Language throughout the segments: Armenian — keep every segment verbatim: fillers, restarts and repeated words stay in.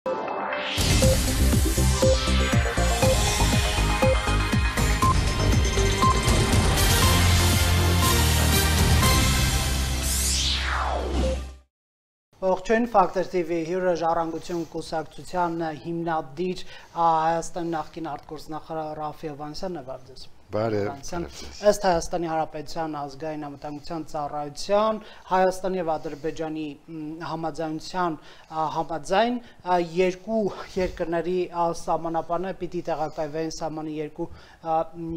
Ողջույն Ֆակտոր T V հյուրը ժառանգություն կուսակցության հիմնադիր Հայաստանի նախկին արտգործնախարար Ռաֆֆի Հովհաննիսյանն է վարդես։ Ըստ Հայաստանի Հանրապետության ազգային անվտանգության ծառայության Հայաստանի եւ Ադրբեջանի համաձայնության համաձայն երկու երկրների սահմանապահները պիտի տեղակայվեն սահմանի երկու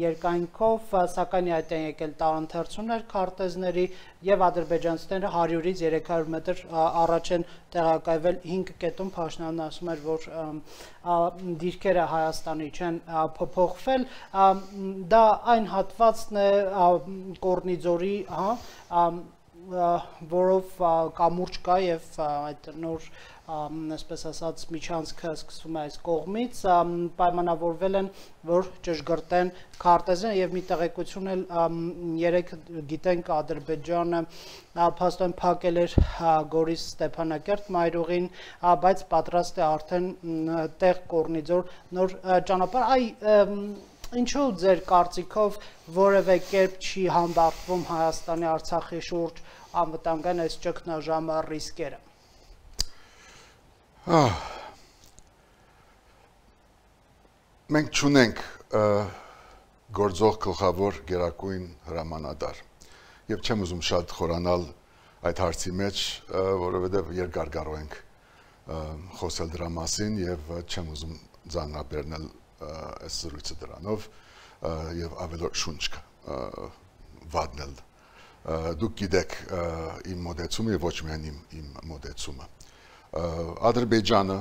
երկայնքով, սակայն այդ են եկել տարընթերցումներ քարտեզների եւ ադրբեջանցիները հարյուրից երեք հարյուր մետր առաջ են տեղակայվել հինգ կետում Փաշինյանն ասում էր, որ դիրքերը Հայաստանի չեն փոփոխվել, դա այն հատվածն է Կորնիձորի, որով կամուրջ կա եւ այդ նոր այսպես ասած միջանցքը սկսվում է այս կողմից, պայմանավորվել են, որ ճշգրտեն քարտեզը եւ մի տեղեկություն էլ երեք գիտենք Ադրբեջանը փաստորեն փակել էր Գորիս Ստեփանակերտ մայրուղին, բայց պատրաստ է արդեն տեղ Կորնիձոր նոր ճանապարհ, այ ինչու ձեր կարծիքով որևէ կերպ չի հանդարտվում Հայաստանի Արցախի շուրջ անվտանգային այս ճգնաժամը ռիսկերը։ Մենք չունենք գործող գլխավոր գերակույն հրամանատար եւ չեմ ուզում շատ խորանալ այդ հարցի մեջ, որովհետեւ երկար կարող ենք խոսել դրա մասին եւ չեմ ուզում ձաննաբերնել այս զրույցը դրանով եւ ավելորդ շունչ վատնել։ Դուք գիտեք իմ մոդեցումը եւ ոչ միայն իմ իմ մոդեցումը։ Ադրբեջանը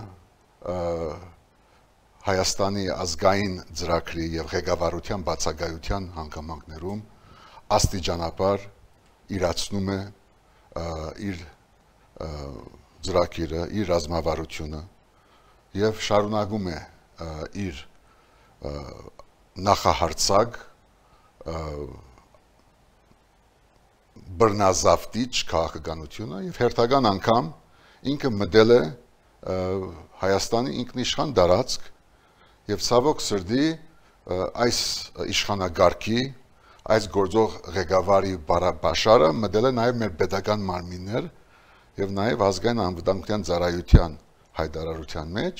Հայաստանի ազգային ծրագրի եւ ղեկավարության բացակայության հանգամանքներում աստիճանաբար իրացնում է իր ծրագիրը, իր ռազմավարությունը եւ շարունակում է իր նախահարցակ բռնազավթիչ քաղաքականությունը եւ հերթական անգամ ինքը մտել է Հայաստանի ինքնիշխան տարածք եւ ցավոք սրտի այս իշխանագարքի այս գործող ղեկավարի բաշարը մտել է նաեւ մեր պետական մարմիններ եւ նաեւ ազգային անվտանգության ծառայության հայտարարության մեջ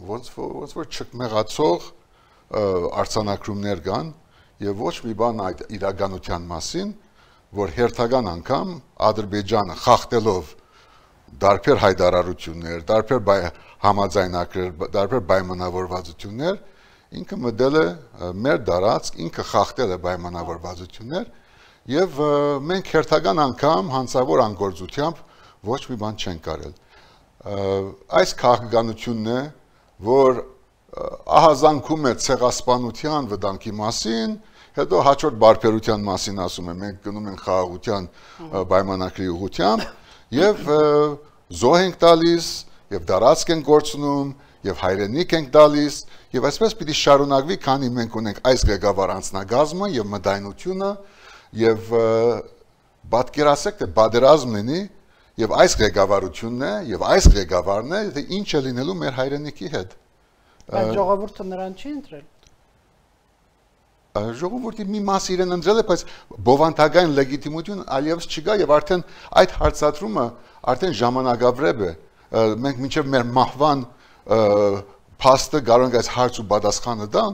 ոնց ոնց որ չկմեղացող արձանագրումներ կան եւ ոչ մի բան այդ իրականության մասին, որ հերթական անգամ Ադրբեջանը խախտելով դարբեր հայտարարություններ, դարբեր համաձայնագրեր, դարբեր պայմանավորվածություններ, ինքը մտել է մեր դարածք, ինքը խախտել է պայմանավորվածություններ եւ մենք հերթական անգամ հանցավոր անգործությամբ ոչ մի բան չենք կարել։ Այս քաղաքականությունն է, որ ահազանգում է ցեղասպանության վտանգի մասին, հետո հաջորդ բարբերության մասին ասում է, մենք գնում ենք խաղաղության պայմանագրի ուղղությամբ եւ զոհ ենք տալիս եւ դարածք ենք գործնում եւ հայրենիք ենք տալիս եւ այսպես պիտի շարունակվի, քանի մենք ունենք այս ղեկավար անձնագազմը եւ մտայնությունը եւ պատկերացեք թե բادرազմ լինի եւ այս ղեկավարությունն է եւ այս ղեկավարն է, թե ինչ է լինելու մեր հայրենիքի հետ։ Բայց ժողովուրդը նրան չի ընտրել։ Ժողովուրդի մի մասը իրեն ընտրել է, բայց բովանդակային լեգիտիմություն այլևս չկա եւ արդեն այդ հարցադրումը արդեն ժամանակավրեպ է։ Մենք մինչեւ մեր մահվան փաստը կարող ենք այս հարց ու պատասխանը տալ,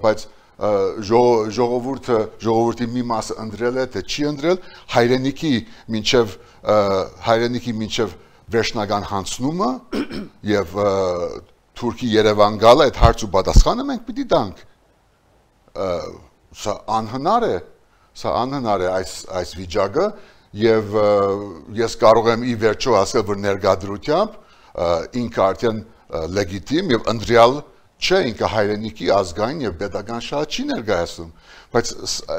բայց ժողովուրդը ժողովրդի մի մասը ընտրել է, թե չի ընտրել, հայրենիքի մինչեւ հայրենիքի մինչեւ վերջնական հանցնումը եւ Թուրքի Երևան գալը այդ հարց ու պատասխանը մենք պիտի տանք։ Սա անհնար է, սա անհնար է այս այս վիճակը եւ ես կարող եմ ի վերջո ասել, որ ներկայությամբ ինքը արդեն լեգիտիմ եւ ընտրյալ չէ, ինքը հայրենիքի ազգային եւ պետական շահ չի ներկայացնում, բայց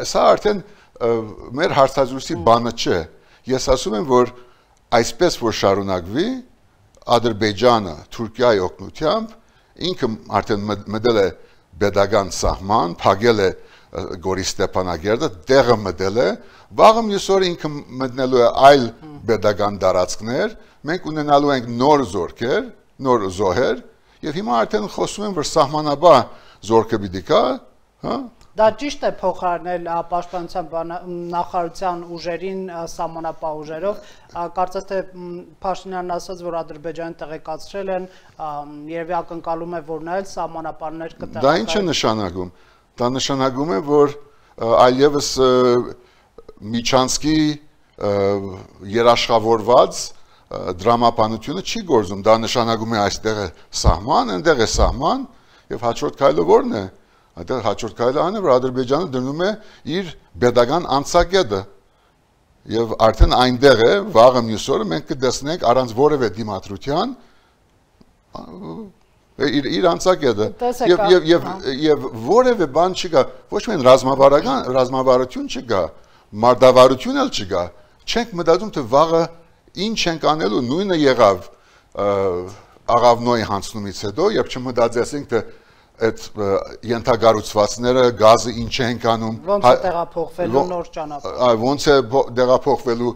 սա արդեն մեր հարցազրույցի բանը չէ։ Ես ասում եմ, որ այսպես որ շարունակվի Ադրբեջանը Թուրքիայի օգնությամբ ինքը արդեն մտել է պետական սահման, փակել է Գորիս Ստեփանագերտը, տեղը մտել է, վաղը մյուս օրը ինքը մտնելու է այլ պետական տարածքներ, մենք ունենալու ենք նոր զորքեր, նոր զոհեր, եւ հիմա արդեն խոսում են, որ սահմանաբար զորքը պիտի կա, հա? Դա ճիշտ է փոխարինել պաշտպանության նախարարության ուժերին սահմանապահ ուժերով, կարծես թե Փաշինյանն ասաց, որ Ադրբեջանը տեղեկացրել են, երևի ակնկալում է, որ նա էլ սահմանապահներ կտեղարկի։ Դա ինչ է նշանակում։ Դա նշանակում է, որ այլևս Միչանսկի երաշխավորված դրամապանությունը չի գործում, դա նշանակում է այստեղ է սահման, այնտեղ է սահման, եւ հաջորդ քայլը ո՞րն է։ Այդտեղ հաջորդ քայլը այն է, որ Ադրբեջանը դնում է իր pedagogan անցակետը եւ արդեն այնտեղ է վաղը մյուս օրը մենք կտեսնենք առանց որևէ դիմադրության իր իր անցակետը եւ եւ եւ եւ որևէ բան չկա, ոչ միայն ռազմավարական ռազմավարություն չկա, մարտավարություն էլ չկա, չենք մտածում թե վաղը ինչ ենք անելու, նույնը եղավ աղավնոյի հանցնումից հետո, երբ չմտածեցինք թե այդ ենթագառուցվածքները գազը ինչ են կանում, ոնց է տեղափոխվելու նոր ճանապարհ, ոնց է տեղափոխվելու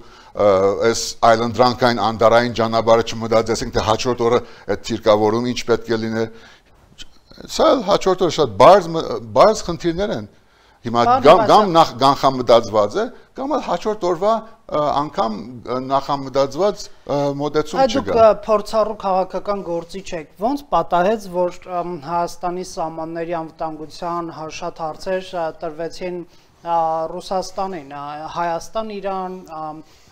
այս այլընտրանքային անդարային ճանապարհը չմտածեցինք թե հաջորդ օրը այդ թիրկավորում ինչ պետք է լինի, սա հաջորդ օրը շատ բարձ բարձ խնդիրներ են, հիմա կամ նախ կանխամտածված է, կամ էլ հաջորդ օրվա անգամ նախամտածված մոտեցում չկա։ Դուք փորձառու քաղաքական գործիչ եք, ոնց պատահեց, որ Հայաստանի սահմանների անվտանգության շատ հարցեր տրվեցին Ռուսաստանին, Հայաստան, Իրան,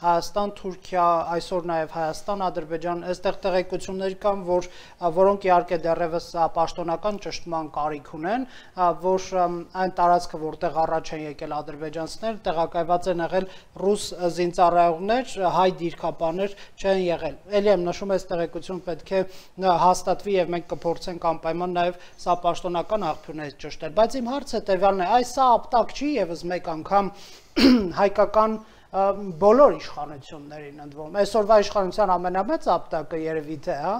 Հայաստան, Թուրքիա, այսօր նաև Հայաստան, Ադրբեջան, այստեղ տեղեկություններ կան, որ որոնք իհարկե դեռևս պաշտոնական ճշտման կարիք ունեն, որ այն տարածքը, որտեղ առաջ են եկել ադրբեջանցիներ, տեղակայված են եղել ռուս զինծառայողներ, հայ դիրքապաներ չեն եղել։ Էլի եմ նշում, այս տեղեկությունը պետք է հաստատվի եւ մենք կփորձենք անպայման նաև սա պաշտոնական աղբյուրներից ճշտել, բայց իմ հարցը տևյալն է, այս սա ապտակ չի եւս մեկ անգամ հայկական բոլոր իշխանություններին ընդվում։ Այսօրվա իշխանության ամենամեծ ապտակը երևի թե, հա,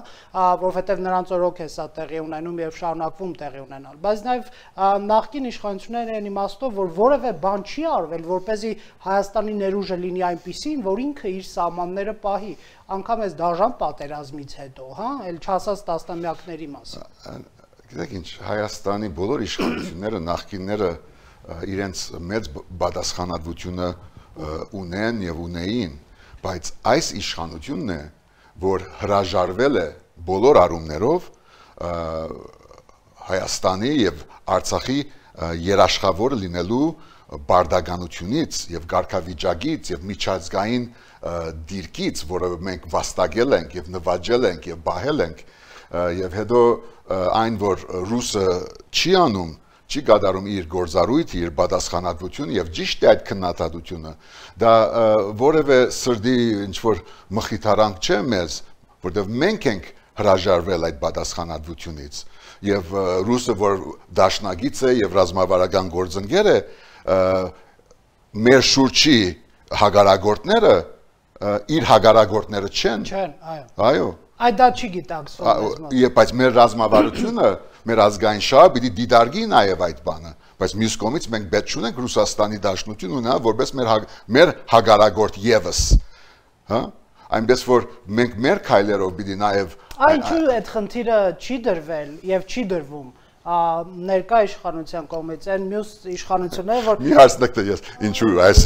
որովհետև նրանց օրոք է սա տեղի ունենում եւ շարունակվում տեղի ունենալ։ Բայց նաեւ նախկին իշխանությունները են իմաստով, որ որևէ բան չի արվել, որպեսզի Հայաստանի ներուժը լինի այնպիսին, որ ինքը իր սահմանները պահի, անգամ այս դաժան պատերազմից հետո, հա, էլ չասած տասնամյակների մասին։ Գիտեք ինչ, Հայաստանի բոլոր իշխանությունները նախկինները իրենց մեծ պատասխանատվությունը ունեն եւ ունեին, բայց այս իշխանությունն է, որ հրաժարվել է բոլոր առումներով Հայաստանի եւ Արցախի երաշխավոր լինելու բարդականությունից եւ ղարքավիճակից եւ միջազգային դիրքից, որը մենք վաստակել ենք եւ նվաճել ենք եւ բահել ենք, եւ հետո այն, որ ռուսը չի անում, չի կատարում իր գործառույթը, իր պատասխանատվությունը եւ ճիշտ է այդ քննադատությունը, դա որևէ սրդի ինչ-որ մխիթարանք չէ մեզ, որտեղ մենք ենք հրաժարվել այդ պատասխանատվությունից եւ ռուսը, որ դաշնակից է եւ ռազմավարական գործընկեր է, մեր շուրջի հագարագործները իր հագարագործները չեն։ Չեն, այո։ Այո։ Այդ դա չի գիտակցվում։ Եվ բայց մեր ռազմավարությունը, մեր ազգային շահը պիտի դիտարկի նաև այդ բանը, բայց մյուս կողմից մենք պետք չունենք Ռուսաստանի Դաշնություն ունենալ որպես մեր մեր հագարագործ եւս, հա, այնպես որ մենք մեր քայլերով պիտի նաև Ինչու այդ խնդիրը չի դրվել եւ չի դրվում ներկա իշխանության կողմից են մյուս իշխանությունները որ մի հարցնեք թե ես ինչու այս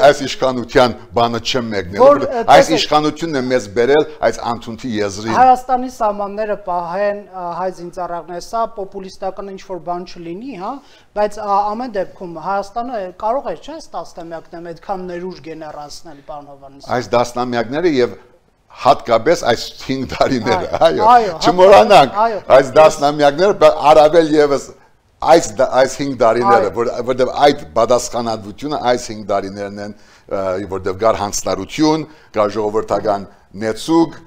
այս իշխանության բանը չեմ մեկնել այս իշխանությունն է մեզ բերել այս անթունթի եզրին Հայաստանի սահմանները պահեն հայ զինծառայողները սա պոպուլիստական ինչ որ բան չլինի հա բայց ամեն դեպքում Հայաստանը կարող է չէ՞ տասնամյակներում այդքան ներուժ գեներացնել պարոն Հովհաննիսյան այս տասնամյակները եւ հատկապես այս հինգ տարիները, այո, չմոռանանք այս դասնամյակները առավել եւս այս այս հինգ տարիները, որտեղ այդ պատասխանատվությունը այս հինգ տարիներն են, որտեղ կար հանցնարություն, կար ժողովրդական նեցուկ,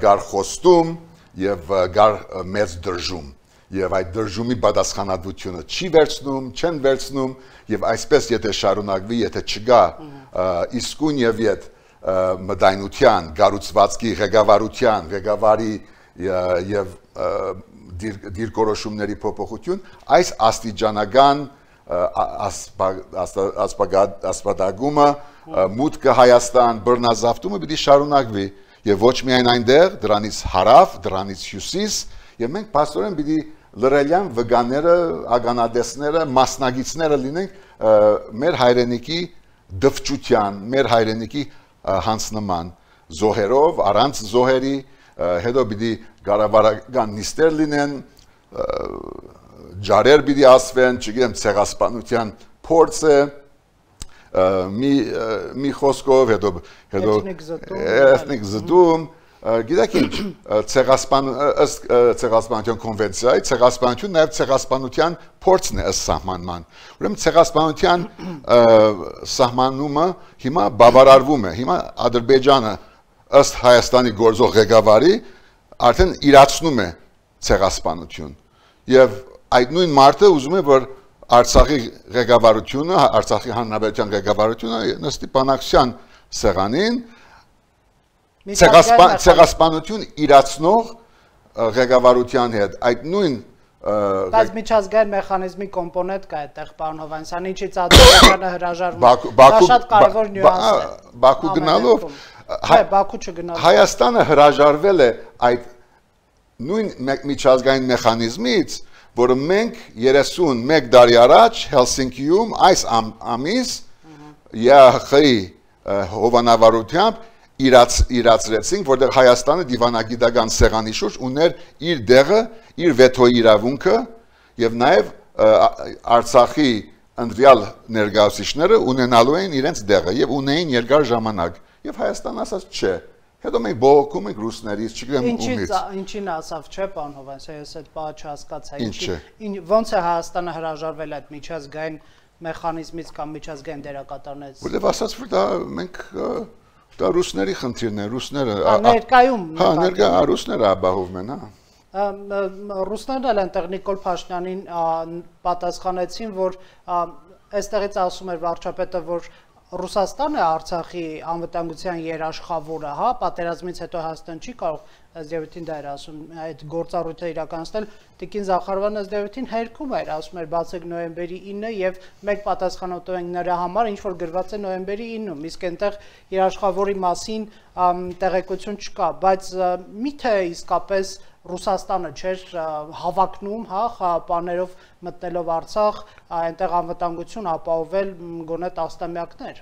կար խոստում եւ կար մեծ դրժում։ Եվ այդ դրժումի պատասխանատվությունը չի վերցնում, չեն վերցնում եւ այսպես եթե շարունակվի, եթե չգա իսկույն եւ իդ մտայնության, գառուցվածքի ղեկավարության, ղեկավարի եւ դիրքորոշումների փոփոխություն, այս աստիճանական ասպատագումը, մուտքը Հայաստան, բռնազավթումը պիտի շարունակվի եւ ոչ միայն այնտեղ, դրանից հարավ, դրանից հյուսիս, եւ մենք փաստորեն պիտի լրելյան վգաները, ագանադեսները, մասնագետները լինենք մեր հայրենիքի դվճության, մեր հայրենիքի հանձնման զոհերով, առանց զոհերի, հետո պիտի գարավարական նիստեր լինեն, ջարեր պիտի ասվեն, չգիտեմ, ցեղասպանության փորձը մի մի խոսքով, հետո հետո էթնիկ զտում, գիտեք ինչ, ցեղասպան ըստ ցեղասպանության կոնվենցիայի, ցեղասպանությունը նաև ցեղասպանության փորձն է ըստ սահմանման։ Ուրեմն ցեղասպանության սահմանումը հիմա բավարարվում է։ Հիմա Ադրբեջանը ըստ Հայաստանի գործող ղեկավարի արդեն իրացնում է ցեղասպանություն։ Եվ այդ նույն մարդը ուզում է, որ Արցախի ղեկավարությունը, Արցախի հանրապետության ղեկավարությունը նստի բանակցության սեղանին ցեղասպանություն իրացնող ղեկավարության հետ այդ նույն բայց միջազգային մեխանիզմի կոմպոնենտ կա այդտեղ, պարոն Հովհաննիսյան, ինչից Ադրբեջանը հրաժարվում է։ Դա շատ կարևոր նյուանս է։ Բաքու գնալով, Չէ, Բաքու չգնալով։ Հայաստանը հրաժարվել է այդ նույն միջազգային մեխանիզմից, որը մենք երեսունմեկ տարի առաջ Հելսինկիում այս ամիս ԵԱՀ-ի հովանավարությամբ իրացրեցինք, որտեղ Հայաստանը դիվանագիտական սեղանի շուրջ ուներ իր դեղը, իր վետոյի իրավունքը եւ նաեւ Արցախի ընդվյալ ներկայացուցիչները ունենալու էին իրենց դեղը եւ ունեին երկար ժամանակ եւ Հայաստանը ասաց չէ։ Հետո մենք բողոքում ենք ռուսներից, չգիտեմ ումից։ Ինչին ասավ, չէ, պարոն Հովհաննիսյան, ես այդ բանը չհասկացա։ Ինչի ո՞նց է Հայաստանը հրաժարվել այդ միջազգային մեխանիզմից կամ միջազգային դերակատարներից։ Որտեւ ասաց, որ դա մենք դա ռուսների խնդիրն է, ռուսները։ Ներկայում։ Հա, ներկա ռուսները ապահովում են, հա։ Ռուսներն էլ այնտեղ Նիկոլ Փաշինյանին պատասխանեցին, որ այստեղից ասում էր վարչապետը, որ Ռուսաստանը Արցախի անվտանգության երաշխավորը, հա, պատերազմից հետո Հայաստան չի կարող ըստ դա էր ասում, այդ գործառույթը իրականացնել, Տիկին Զախարովան ըստ հերքում էր, ասում էր բացեք նոյեմբերի ինը եւ մենք պատասխանատու ենք նրա համար, ինչ որ գրված է նոյեմբերի ինը, իսկ այնտեղ երաշխավորի մասին տեղեկություն չկա, բայց միթե իսկապես Ռուսաստանը չէր հավակնում, հա, խաղապաներով մտնելով Արցախ, այնտեղ անվտանգություն ապահովել գոնե տասնամյակներ։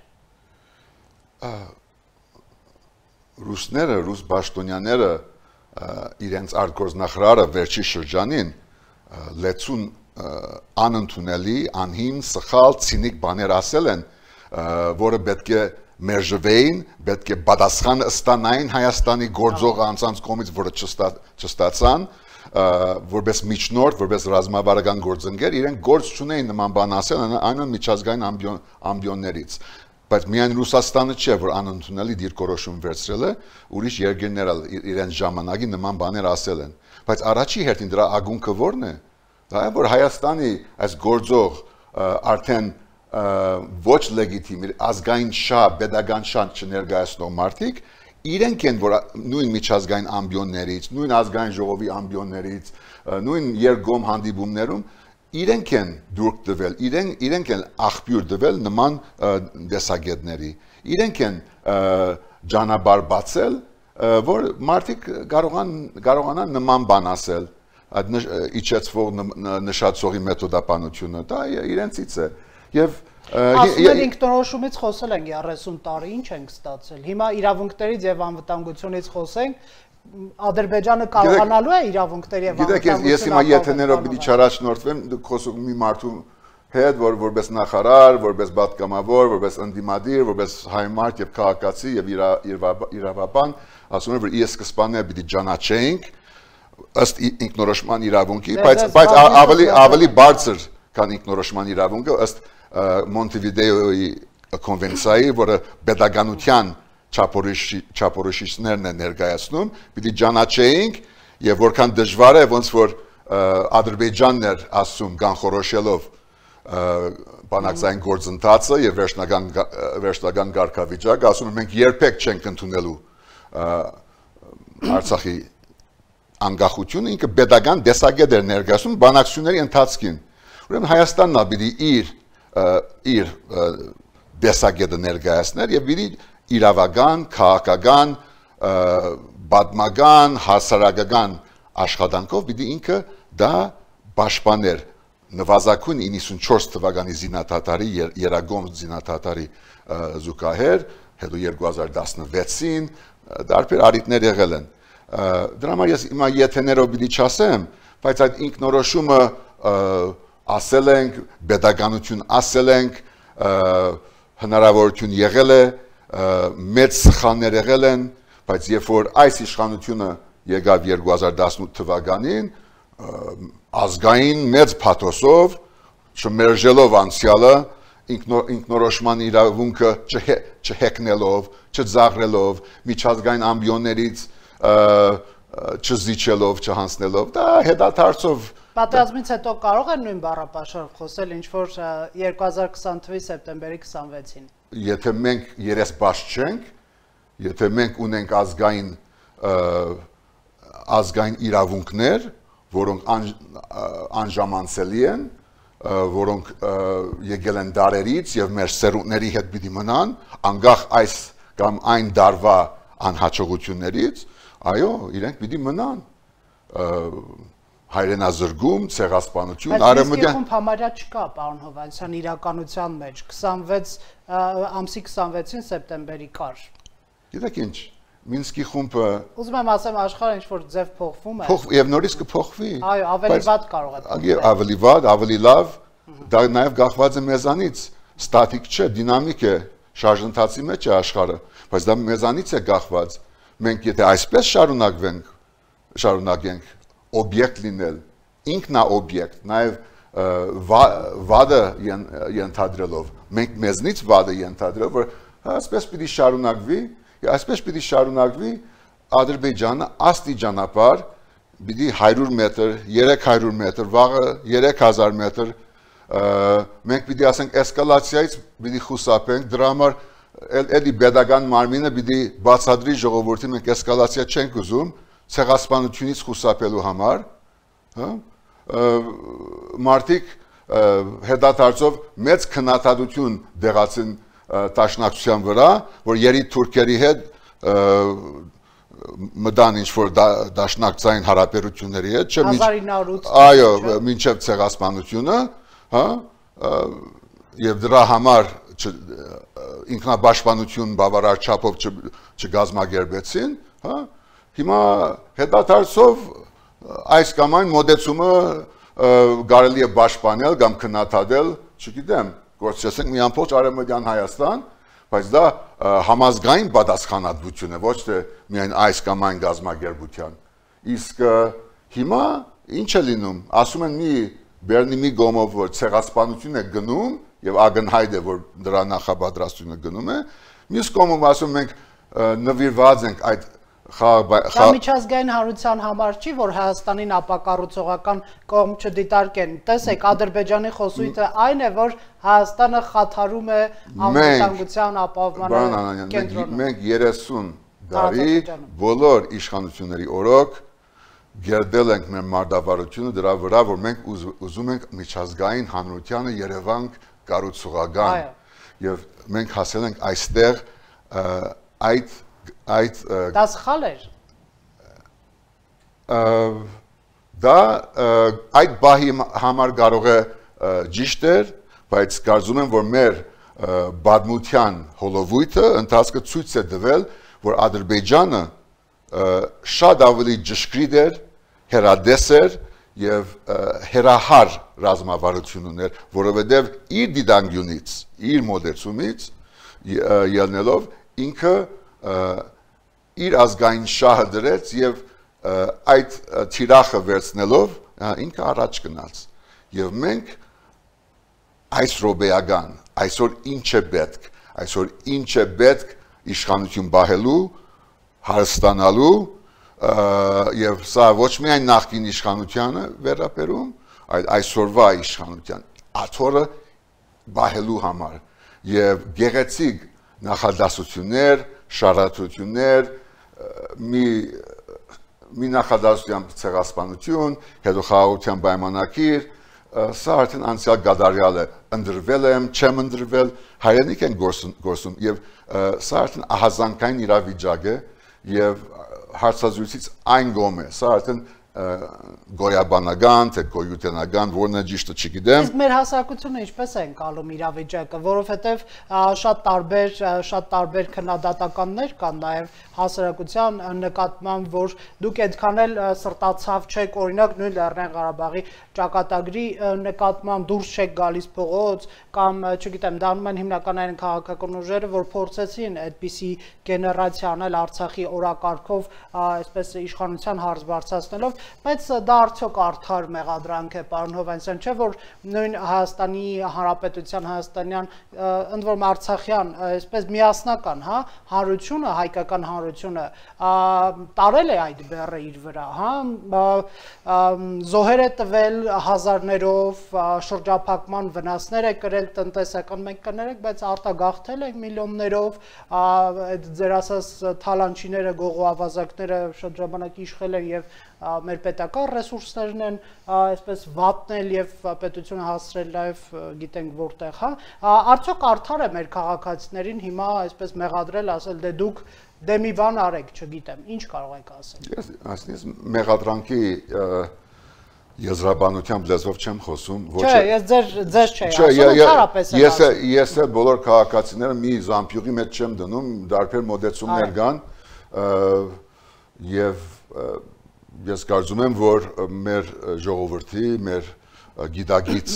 Ռուսները, ռուս պաշտոնյաները իրենց արտգործնախարարը վերջի շրջանին լեցուն անընդունելի, անհիմն, սխալ, ցինիկ բաներ ասել են, որը պետք է մերժվեին, պետք է պատասխան ստանային Հայաստանի գործող անձանց կողմից, որը չստացան, որպես միջնորդ, որպես ռազմավարական գործընկեր, իրենք գործ չունեին նման բան ասել, այն միջազգային ամբիոններից։ Բայց միայն Ռուսաստանը չէ, որ անընդունելի դիրքորոշում վերցրել է, ուրիշ երկրներ իրենց ժամանակի նման բաներ ասել են։ Բայց առաջի հերթին դրա ագունքը ո՞րն է։ Դա է, որ Հայաստանի այս գործող արդեն ոչ լեգիտիմ, ազգային շահ, pedagogan շահ չներկայացնող մարդիկ իրենք են, որ նույն միջազգային ամբիոններից, նույն ազգային ժողովի ամբիոններից, նույն երկկողմ հանդիպումներում իրենք են դուրք տվել, իրենք իրենք են աղբյուր տվել նման դեսագետների, իրենք են ճանապարհ բացել, որ մարդիկ կարողան կարողանան նման բան ասել, այդ իջեցվող նշածողի մեթոդապանությունը, դա իրենցից է։ Եվ ասում են ինքնորոշումից խոսել ենք երեսուն տարի, ինչ ենք ստացել։ Հիմա իրավունքներից եւ անվտանգությունից խոսենք, Ադրբեջանը կարողանալու է իրավունքների եւ անվտանգության։ Գիտեք, ես հիմա եթեներով պիտի չառաջնորդվեմ, դուք խոսում մի մարդու հետ, որ որպես նախարար, որպես պատգամավոր, որպես ընդդիմադիր, որպես հայ մարդ եւ քաղաքացի եւ իրավաբան, ասում են, որ ի սկզբանե պիտի ճանաչենք ըստ ինքնորոշման իրավունքի, բայց բայց ավելի ավելի բարձր քան ինքնորոշման իրավունքը ըստ Մոնտեվիդեոյի կոնվենցիայի, որը pedagoganության չափորոշիչներն է ներկայացնում, պիտի ճանաչեինք եւ որքան դժվար է, ոնց որ Ադրբեջանն էր ասում կանխորոշելով բանակցային գործընթացը եւ վերջնական վերջնական կարգավիճակը, ասում են մենք երբեք չենք ընդունելու Արցախի անկախությունը, ինքը pedagogan դեսագետ էր ներկայացնում բանակցությունների ընթացքին։ Ուրեմն Հայաստանն ա պիտի իր իր դեսագետը ներկայացներ եւ իր իրավական, քաղաքական, բադմական, հասարակական աշխատանքով պիտի ինքը դա պաշտպաներ նվազագույն իննսունչորս թվականի զինադատարի երագոմ զինադատարի զուգահեռ, հետո երկու հազար տասնվեցին դարբեր առիթներ եղել են։ Դրա համար ես հիմա եթեներով պիտի չասեմ, բայց այդ ինքնորոշումը ասել ենք, pedagogiություն ասել ենք, հնարավորություն եղել է, մեծ սխալներ եղել են, բայց երբ որ այս իշխանությունը եկավ երկու հազար տասնութ թվականին, ազգային մեծ փաթոսով, չմերժելով անցյալը, ինքնորոշման իրավունքը չհեքնելով, չձաղրելով, միջազգային ամբիոններից չզիջելով, չհանձնելով, դա հետադարձով Պատերազմից հետո կարող են նույն բառապաշարով խոսել, ինչ որ երկու հազար քսան թվականի սեպտեմբերի քսանվեցին։ Եթե մենք երեսպաշտ չենք, եթե մենք ունենք ազգային ազգային իրավունքներ, որոնք անժամանցելի են, որոնք եկել են դարերից եւ մեր սերունդների հետ պիտի մնան, անկախ այս կամ այն դարվա անհաջողություններից, այո, իրենք պիտի մնան հայրենազրկում, ցեղասպանություն, արևմտյան Բայց իսկ համարյա չկա, պարոն Հովհաննիսյան, իրականության մեջ քսանվեց ամսի քսանվեցին սեպտեմբերի կար։ Գիտեք ինչ, Մինսկի խումբը Ուզում եմ ասեմ աշխարհը ինչ որ ձև փոխվում է։ Փոխ եւ նորից կփոխվի։ Այո, ավելի վատ կարող է փոխվել։ Ավելի վատ, ավելի լավ, դա նաեւ գաղված է մեզանից, ստատիկ չէ, դինամիկ է, շարժընթացի մեջ է աշխարհը, բայց դա մեզանից է գաղված։ Մենք եթե այսպես շարունակվենք, շարունակենք օբյեկտ լինել, ինքնա օբյեկտ, նաև վադը ենթադրելով, մենք մեզնից վադը ենթադրելով, որ այսպես պիտի շարունակվի, այսպես պիտի շարունակվի Ադրբեջանը աստիճանաբար պիտի հարյուր մետր, երեք հարյուր մետր, վաղը երեք հազար մետր, մենք պիտի ասենք էսկալացիայից պիտի խուսափենք, դրա համար էլի pedagogan մարմինը պիտի բացատրի ժողովրդին, մենք էսկալացիա չենք ուզում, ցեղասպանությունից խուսափելու համար, հա, մարդիկ հետադարձով մեծ քննադատություն դեղացին տաշնակցության վրա, որ երի թուրքերի հետ մտան ինչ-որ դաշնակցային հարաբերությունների հետ, չէ, հազար ինը հարյուր ութ այո, մինչև ցեղասպանությունը, հա, եւ դրա համար ինքնաբաշխանություն բավարար չափով չգազմագերբեցին, հա, հիմա հետադարձով այս կամ այն մոդեցումը կարելի է պաշտպանել կամ քննադատել, չգիտեմ, գործեցենք մի ամբողջ արևմտյան Հայաստան, բայց դա համազգային պատասխանատվություն է, ոչ թե միայն այս կամ այն գազագերբության։ Իսկ հիմա ինչ է լինում, ասում են մի Բերնի մի գոմով, որ ցեղասպանություն է գնում եւ ակնհայտ է, որ դրա նախապատրաստությունը գնում է, մյուս կողմով ասում ենք նվիրված ենք այդ Դա միջազգային հանրության համար չի, որ Հայաստանին ապակառուցողական կողմ չդիտարկեն։ Տեսեք, Ադրբեջանի խոսույթը այն է, որ Հայաստանը խաթարում է անվտանգության ապահովման կենտրոնը։ Մենք երեսուն տարի բոլոր իշխանությունների օրոք գերդել ենք մեր մարտավարությունը դրա վրա, որ մենք ուզում ենք միջազգային հանրությանը Երևան կառուցողական։ Եվ մենք հասել ենք այստեղ այդ այդ դա սխալ էր դա այդ բահի համար կարող է ճիշտ էր, բայց կարծում եմ, որ մեր բադմության հոլովույթը ընթացքը ցույց է տվել, որ Ադրբեջանը շատ ավելի ճշգրիտ էր, հերադես էր եւ հերահար ռազմավարություն ուներ, որովհետեւ իր դիտանկյունից, իր մոդեցումից ելնելով ինքը իր ազգային շահը դրեց եւ այդ թիրախը վերցնելով ինքը առաջ գնաց եւ մենք այս ռոբեական այսօր ինչ է պետք այսօր ինչ է պետք իշխանություն բահելու հարստանալու եւ սա ոչ միայն նախկին իշխանությանը վերապերում այլ այսօրվա իշխանության աթորը բահելու համար եւ գեղեցիկ նախադասություններ շարադրություններ, մի մի նախադասության ցեղասպանություն, հետո խաղաղության պայմանագիր, սա արդեն անցյալ գադարյալ է, ընդրվել եմ, չեմ ընդրվել, հայրենիք են գործում եւ սա արդեն ահազանգային իրավիճակ է եւ հարցազրույցից այն գոմ է, սա արդեն գոյաբանական, թե գոյութենական, որն է ճիշտը չգիտեմ։ Իսկ մեր հասարակությունը ինչպես է ընկալում իրավիճակը, որովհետև շատ տարբեր շատ տարբեր քննադատականներ կան նաև հասարակության նկատմամբ, որ դուք այդքան էլ սրտացավ չեք, օրինակ նույն Լեռնային Ղարաբաղի ճակատագրի նկատմամբ դուրս չեք գալիս փողոց, կամ չգիտեմ, դառնում են հիմնականային քաղաքական ուժերը, որ փորձեցին այդպիսի գեներացիա անել Արցախի օրակարգով, այսպես իշխանության հարց բարձրացնելով, բայց դա արդյոք արդար մեղադրանք է, պարոն Հովհաննիսյան, չէ՞ որ նույն Հայաստանի Հանրապետության հայաստանյան, ընդ որում արցախյան, այսպես միասնական, հա, հանրությունը, հայկական հանրությունը տարել է այդ բեռը իր վրա, հա, զոհեր է տվել հազարներով, շրջափակման վնասներ է կրել տնտեսական, մենք կներեք, բայց արտագաղթել է միլիոններով, այդ ձեր ասած թալանչիները, գողոավազակները շատ ժամանակ իշխել են եւ մեր պետական ռեսուրսներն են այսպես վատնել եւ պետությունը հասցրել նաեւ գիտենք որտեղ, հա, արդյոք արդար է մեր քաղաքացիներին հիմա այսպես մեղադրել, ասել դե դուք դե մի բան արեք, չգիտեմ, ինչ կարող եք ասել։ Ես ասես մեղադրանքի եզրաբանությամբ լեզվով չեմ խոսում, ոչ Չէ, ես ձեր ձեզ չէի ասում, ընդհանրապես եմ ասում։ Ես ես էլ բոլոր քաղաքացիները մի զամբյուղի մեջ չեմ դնում, դարբեր մոդեցումներ կան եւ ես կարծում եմ, որ մեր ժողովրդի, մեր գիտագից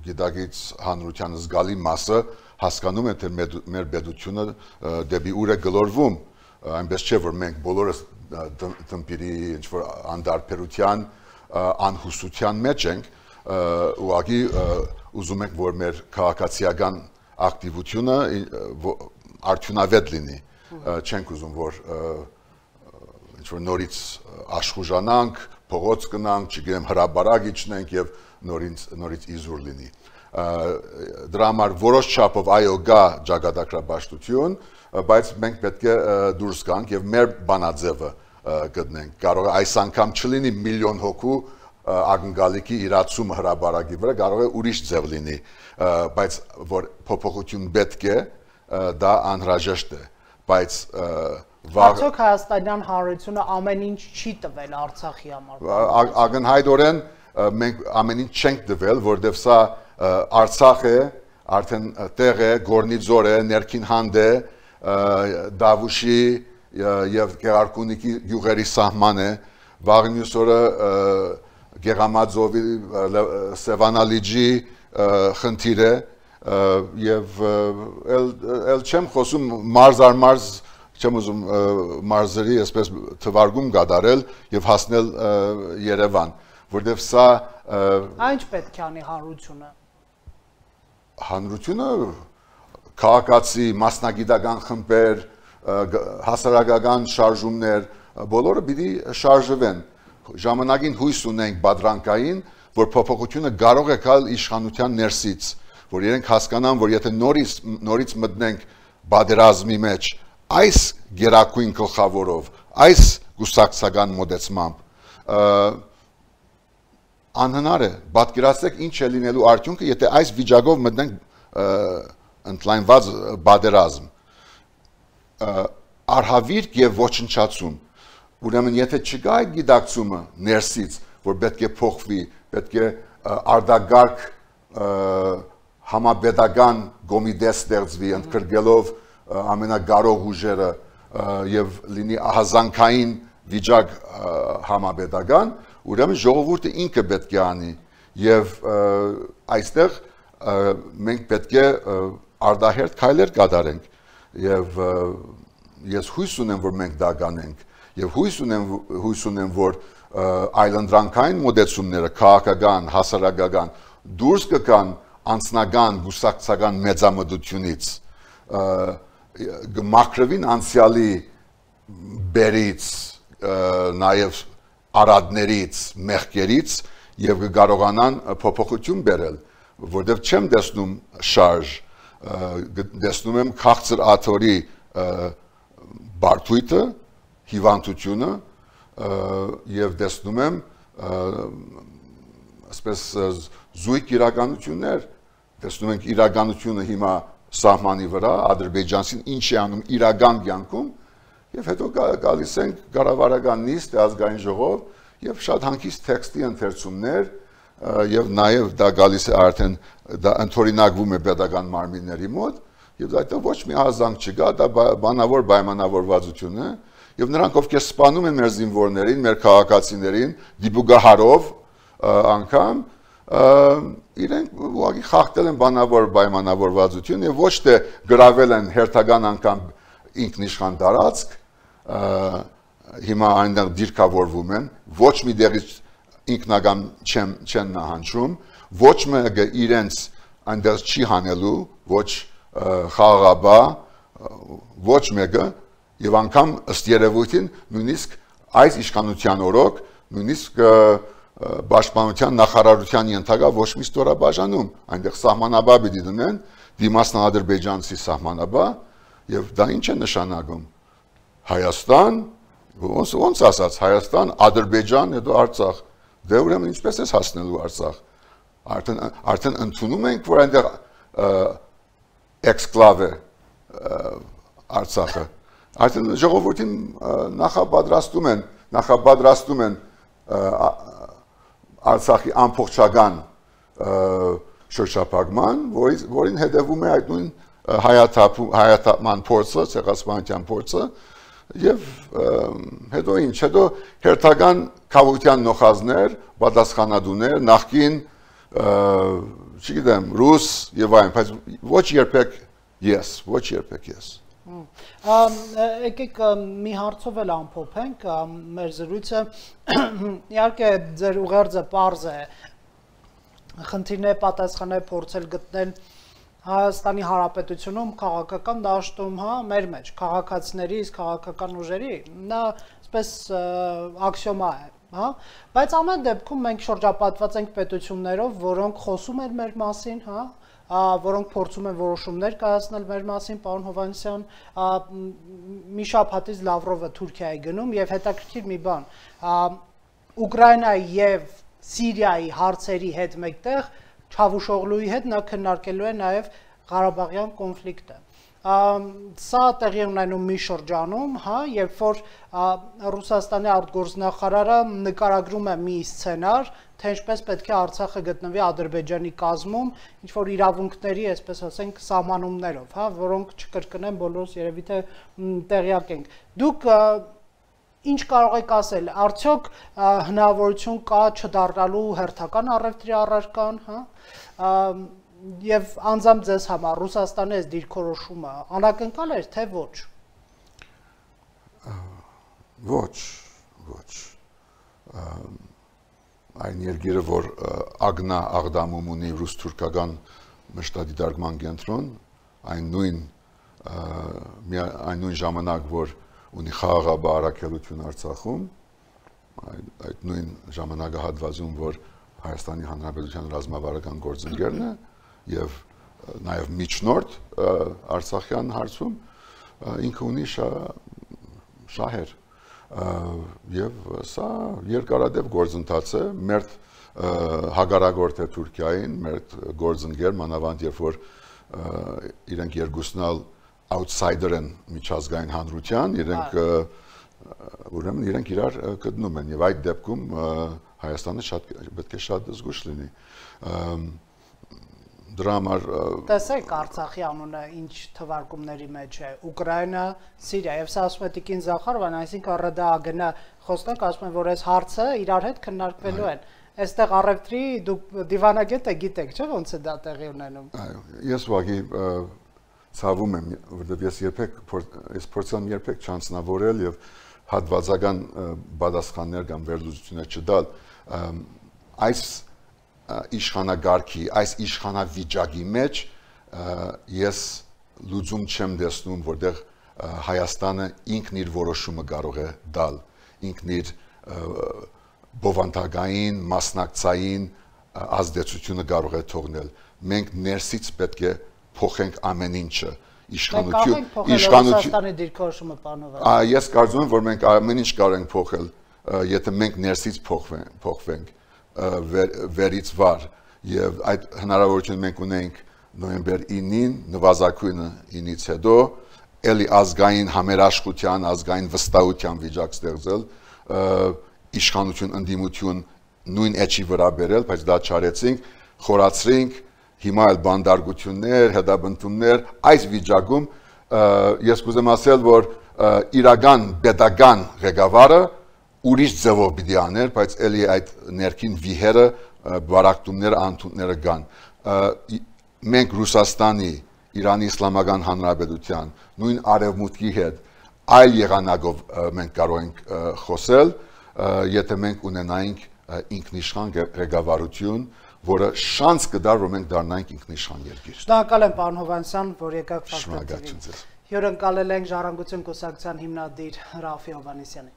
գիտագից հանրության զգալի մասը հասկանում է, թե մեր պետությունը դեպի ուր է գլորվում, այնպես չէ, որ մենք բոլորս տնպիրի ինչ-որ անդարբերության, անհուսության մեջ ենք, ուղղակի ուզում ենք, որ մեր քաղաքացիական ակտիվությունը արդյունավետ լինի, չենք ուզում, որ ինչ-որ նորից աշխուժանանք, փողոց գնանք, չգիտեմ, հրաբարակ իջնենք եւ նորից իզուր լինի։ Դրա համար որոշ չափով այո գա ճակատագրաբաշխություն, բայց մենք պետք է դուրս գանք եւ մեր բանաձևը գտնենք։ Կարող է այս անգամ չլինի միլիոն հոգու ակնկալիքի իրացումը հրաբարակի վրա, կարող է ուրիշ ձև լինի, բայց որ փոփոխություն պետք է, դա անհրաժեշտ է, բայց Արդյոք հայաստանյան հանրությունը ամեն ինչ չի տվել Արցախի համար։ Ակնհայտորեն մենք ամեն ինչ չենք տվել, որովհետև սա Արցախ է, արդեն տեղ է, Գորնիձոր է, Ներքին Հանդ է, Դավուշի եւ Գեղարքունիքի գյուղերի սահման է, վաղ մյուս օրը Գեղամաձովի Սևանալիջի խնդիր է եւ ել չեմ խոսում մարզ առ մարզ չեմ ուզում մարզերի այսպես թվարկում կատարել եւ հասնել Երևան, որովհետեւ սա Ինչ պետք է անի հանրությունը։ Հանրությունը քաղաքացի, մասնագիտական խմբեր, հասարակական շարժումներ, բոլորը պիտի շարժվեն։ Ժամանակին հույս ունենք բادرանկային, որ փոփոխությունը կարող է գալ իշխանության ներսից, որ իրենք հասկանան, որ եթե նորից նորից մտնենք բادرազմի մեջ այս գերակույն գլխավորով, այս գուսակցական մոդեցմամբ անհնար է, պատկերացրեք ինչ է լինելու արդյունքը, եթե այս վիճակով մտնենք ընդլայնված բادرազմ, արհավիրք եւ ոչնչացում, ուրեմն եթե չկա այդ գիտակցումը ներսից, որ պետք է փոխվի, պետք է արտագարգ համապետական կոմիտե ստեղծվի, ընդգրկելով ամենագարող ուժերը եւ լինի ահազանգային վիճակ համապետական, ուրեմն ժողովուրդը ինքը պետք է անի եւ այստեղ մենք պետք է արդահերթ քայլեր կատարենք եւ ես հույս ունեմ, որ մենք դա կանենք եւ հույս ունեմ հույս ունեմ, որ այլընտրանքային մոդեցումները քաղաքական, հասարակական դուրս կգան անձնական, գուսակցական մեծամտությունից մակրվին անցյալի բերից, նաև արադներից, մեղքերից եւ կարողանան փոփոխություն բերել, որտեղ չեմ տեսնում շարժ, տեսնում եմ քաղցր աթորի բարդույթը, հիվանդությունը եւ տեսնում եմ ասես զույգ իրականություններ, տեսնում ենք իրականությունը հիմա սահմանի վրա, Ադրբեջանցին ինչ է անում իրական կյանքում, եւ հետո գալիս ենք կառավարական նիստ, ազգային ժողով եւ շատ հանգիստ տեքստի ընթերցումներ եւ նաեւ դա գալիս է արդեն դա ընդօրինակվում է pedagogan մարմինների մոտ եւ դա ոչ մի ազանգ չկա, դա բանավոր պայմանավորվածություն է եւ նրանք ովքեր սպանում են մեր զինվորներին, մեր քաղաքացիներին, դիպուգահարով անգամ իրենք ուղղակի խախտել են բանավոր պայմանավորվածություն եւ ոչ թե գրավել են հերթական անգամ ինքնիշխան տարածք, հիմա այնտեղ դիրքավորվում են, ոչ մի դեղից ինքնական չեն չեն նահանջում, ոչ մեկը իրենց այնտեղ չի հանելու, ոչ խաղաղաբա, ոչ մեկը եւ անգամ ըստ երևույթին նույնիսկ այս իշխանության օրոք նույնիսկ Պաշտպանության նախարարության ենթակա ոչ մի ստորաբաժանում այնտեղ սահմանաբա պիտի դնեն դիմացն ադրբեջանցի սահմանաբա եւ դա ինչ է նշանակում Հայաստան ոնց ոնց ասած Հայաստան Ադրբեջան հետո Արցախ դե ուրեմն ինչպես է հասնելու Արցախ արդեն արդեն ընդունում ենք որ այնտեղ էքսկլավ է Արցախը արդեն ժողովրդին նախապատրաստում են նախապատրաստում են Արցախի ամբողջական շրջափակման, որին հետևում է այդ նույն հայաթափման փորձը, ցեղասպանության փորձը, եւ հետո ինչ, հետո հերթական քաղաքության նոխազներ, պատասխանատուներ, նախկին, չգիտեմ, ռուս եւ այլն, բայց ոչ երբեք ես, ոչ երբեք ես։ Եկեք մի հարցով էլ ամփոփենք մեր զրույցը իհարկե ձեր ուղերձը պարզ է խնդիրներ պատասխանել փորձել գտնել Հայաստանի Հանրապետությունում քաղաքական դաշտում հա մեր մեջ քաղաքացիների իսկ քաղաքական ուժերի նա այսպես աքսիոմա է հա բայց ամեն դեպքում մենք շրջապատված ենք պետություններով որոնք խոսում են մեր մասին հա որոնք փորձում են որոշումներ կայացնել մեր մասին, պարոն Հովհաննիսյան, մի շաբաթից Լավրովը Թուրքիա է գնում եւ հետաքրքիր մի բան, Ուկրաինայի եւ Սիրիայի հարցերի հետ մեկտեղ Չավուշօղլուի հետ նա քննարկելու է նաեւ Ղարաբաղյան կոնֆլիկտը։ Սա տեղի ունենում մի շրջանում, հա, երբ որ Ռուսաստանի արտգործնախարարը նկարագրում է մի սցենար, թե ինչպես պետք է Արցախը գտնվի Ադրբեջանի կազմում, ինչ որ իրավունքների, այսպես ասենք, սահմանումներով, հա, որոնք չկրկնեն բոլորս երևի թե տեղյակ ենք։ Դուք ինչ կարող եք ասել, արդյոք հնարավորություն կա չդառնալու հերթական առևտրի առարկան, հա, եւ անձամբ ձեզ համար Ռուսաստանի այս դիրքորոշումը անակնկալ էր թե ոչ։ Ոչ, ոչ։ Այն երկիրը, որ ագնա աղդամում ունի ռուս-թուրքական մշտադիտարկման կենտրոն, այն նույն այն նույն ժամանակ, որ ունի խաղաղաբար առաքելություն Արցախում, այդ նույն ժամանակահատվածում, որ Հայաստանի Հանրապետության ռազմավարական գործընկերն է եւ նաեւ միջնորդ Արցախյան հարցում ինքը ունի շահեր եւ սա երկարատև գործընթաց է մեր հագարագործ է Թուրքիային մեր գործընկեր մանավանդ երբ որ իրենք երկուսնալ outsider են միջազգային հանրության իրենք ուրեմն իրենք իրար գտնում են եւ այդ դեպքում Հայաստանը շատ պետք է շատ զգուշ լինի դրա համար տեսեք Արցախի անունը ինչ թվարկումների մեջ է Ուկրաինա, Սիրիա եւ սա ասում է Տիկին Զախարովան, այսինքն ՌԴԱԳՆ խոսնակ ասում են որ այս հարցը իրար հետ քննարկվելու են։ Այստեղ առևտրի դուք դիվանագետ եք գիտեք, չէ՞ ոնց է դա տեղի ունենում։ Այո, ես ուղղակի ցավում եմ, որովհետեւ ես երբեք ես փորձեմ երբեք չանձնավորել եւ հատվածական բադասխաններ կամ վերլուծություններ չտալ այս իշխանագարքի, այս իշխանավիճակի մեջ ես լուծում չեմ տեսնում, որտեղ Հայաստանը ինքն իր որոշումը կարող է տալ, ինքն իր բովանդակային, մասնակցային ազդեցությունը կարող է թողնել։ Մենք ներսից պետք է փոխենք ամեն ինչը, իշխանություն, իշխանությունը դիրքորոշումը պանովել։ Ես կարծում եմ, որ մենք ամեն ինչ կարող ենք փոխել, եթե մենք ներսից փոխվենք։ Ver, վերից վար եւ այդ հնարավորությունը մենք ունենք նոյեմբեր ինին նվազագույնը ինից հետո էլի ազգային համերաշխության, ազգային վստահության վիճակ ստեղծել, իշխանություն, ընդդիմություն նույն էջի վրա բերել, բայց դա չարեցինք, խորացրինք, հիմա էլ բանդարգություններ, հետապնդումներ, այս վիճակում ես կուզեմ ասել, որ իրական պետական ղեկավարը ուրիշ ձևով պիտի աներ, բայց էլի այդ ներքին վիհերը, բարակտումները, անընդունները կան։ Մենք Ռուսաստանի, Իրանի Իսլամական Հանրապետության, նույն Արևմուտքի հետ այլ եղանակով մենք կարող ենք խոսել, եթե մենք ունենայինք ինքնիշխան ղեկավարություն, որը շանս կդար, որ մենք դառնայինք ինքնիշխան երկիր։ Շնորհակալ եմ, պարոն Հովհաննիսյան, որ եկաք Ֆակտոր թի վի։ Հյուրընկալել ենք Ժառանգություն կուսակցության հիմնադիր Ռաֆի Հովհաննիսյանին։